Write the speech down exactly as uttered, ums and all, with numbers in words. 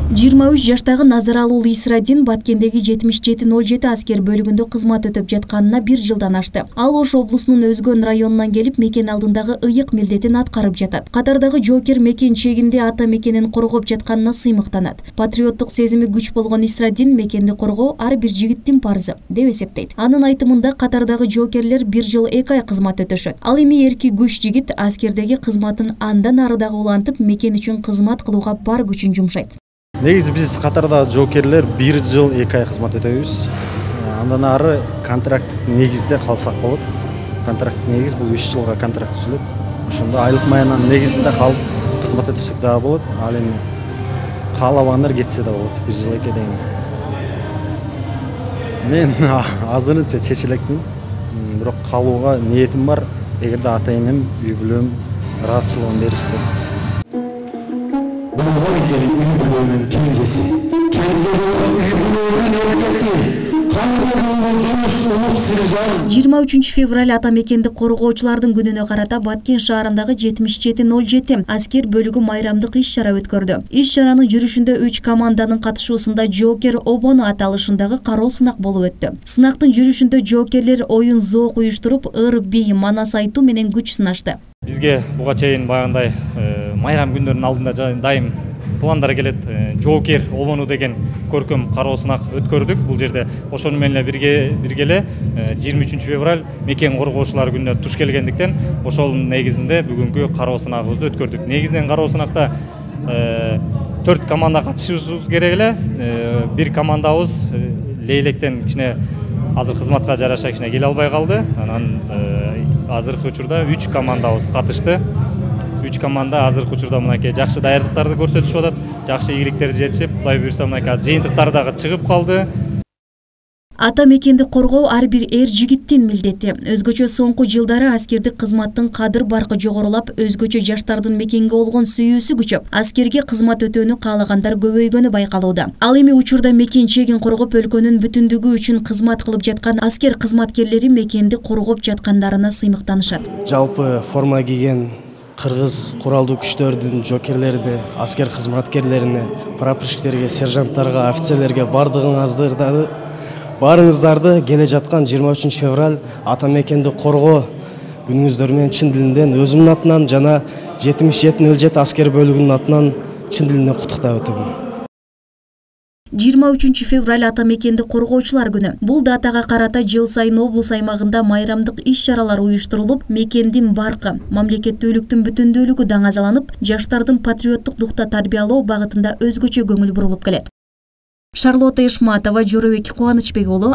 жыйырма үч жаштагы Назаралуу Исрадин Баткендеги жетимиш жети ноль жети аскер бөлүгүндө кызмат өтөп жатканына бир жылдан ашты. Ал Ош облусунун Өзгөн районунан келип, мекен алдындагы ыйык милдетин аткарып жатат. Катардагы жоокер мекен чегинде ата мекенин коргоп жатканына сыймыктанат. Патриоттук сезими күч болгон Исрадин мекенди коргоо ар бир жигиттин парзы деп эсептейт. Анын айтымында катардагы жоокерлер бир жыл эки ай кызмат өтөшөт. Ал эми эрки күч жигит аскердеги кызматын андан ары дагы улантып, мекен үчүн кызмат кылууга бар күчүн жумшайт. Негизи биз катардагы жоокерлер бир жыл эки ай кызмат өтөбүз. Андан ары контракт негизде калсак болот. Контракт негиз бул үч жылга контракт түзүлөт. Ошондо айлык маянанын негизинде калып кызмат өтөсөк дагы болот. Ал эми каалабагандар кетсе да болот. бир жыл эки айдан кийин. Мен азырынча чече элекмин. Бирок калууга ниетим бар. Эгерде ата энем, үй бүлөм ыраазычылыгын беришсе. жыйырма үчүнчү февраль ата мекенди коргоочулардын күнүнө карата Баткен шаарындагы жетимиш жети ноль жети аскер бөлүгү майрамдык иш чара өткөрдү. Иш чаранын жүрүшүндө үч команданын катышуусунда жоокер обону аталышындагы кароо сынак болуп өттү. Сынактын жүрүшүндө жоокерлер оюн зоок уюштуруп, ыр, бий, манас айтуу менен күч сынашты. Бизге буга чейин баягындай майрам күндөрүнүн алдында дайым пландар келет. Жоокер обону деген көркөм кароо сынак өткөрдүк. Бул жерде ошону менен бирге биргеле жыйырма үчүнчү февраль мекен коргоочулар күнүнө туш келгендиктен ошонун негизинде бүгүнкү кароо сынагыбызды өткөрдүк. Негизинен кароо сынакта төрт команда катышышыбыз керек эле. Бир командабыз Лейлектен кичине азыр кызматка жараша кичине келе албай калды. Анан азыркы учурда үч командабыз катышты. үч команда азыркы учурда мынакей жакшы даярдыктарды көрсөтүшүп атат. Жакшы ийгиликтерди жетишип, Кудай буйрса мынакей азыр жыйынтыктар дагы чыгып калды. Ата мекенди коргоо ар бир эр жигиттин милдети. Өзгөчө соңку жылдары аскердик кызматтын кадыр баркы жогорулап, өзгөчө жаштардын мекенге болгон сүйүүсү күчөп, аскерге кызмат өтөөнү каалагандар көбөйгөнү байкалууда. Ал эми учурда мекен чегин коргоп, өлкөнүн бүтүндүгү үчүн кызмат кылып жаткан аскер кызматкерлери мекенди коргоп жаткандарына сыймыктанышат. Жалпы форма кийген кыргыз куралдуу күчтөрдүн жоокерлерине, аскер кызматкерлерине, прапорщиктерге, сержанттарга, офицерлерге бардыгыңыздарды Барыңыздарды келе жаткан жыйырма үчүнчү февраль ата мекенди коргоо күнүңүздөр менен чын дилинен өзүмдүн атынан жана жетимиш жети ноль жети аскер бөлүгүнүн атынан чын дилинен куттуктап өтөмүн. жыйырма үчүнчү февраль ата мекенди коргоочулар күнү. Бул датага карата жыл сайын облус аймагында майрамдык иш чаралар уюштурулуп, мекендин баркы, мамлекеттүүлүктүн бүтүндүүлүгү даңазаланып, жаштардын патриоттук духта тарбиялоо багытында өзгөчө көңүл бурулуп келет. Шарлотта Ишматова, Жоробек Кубанычбек уулу.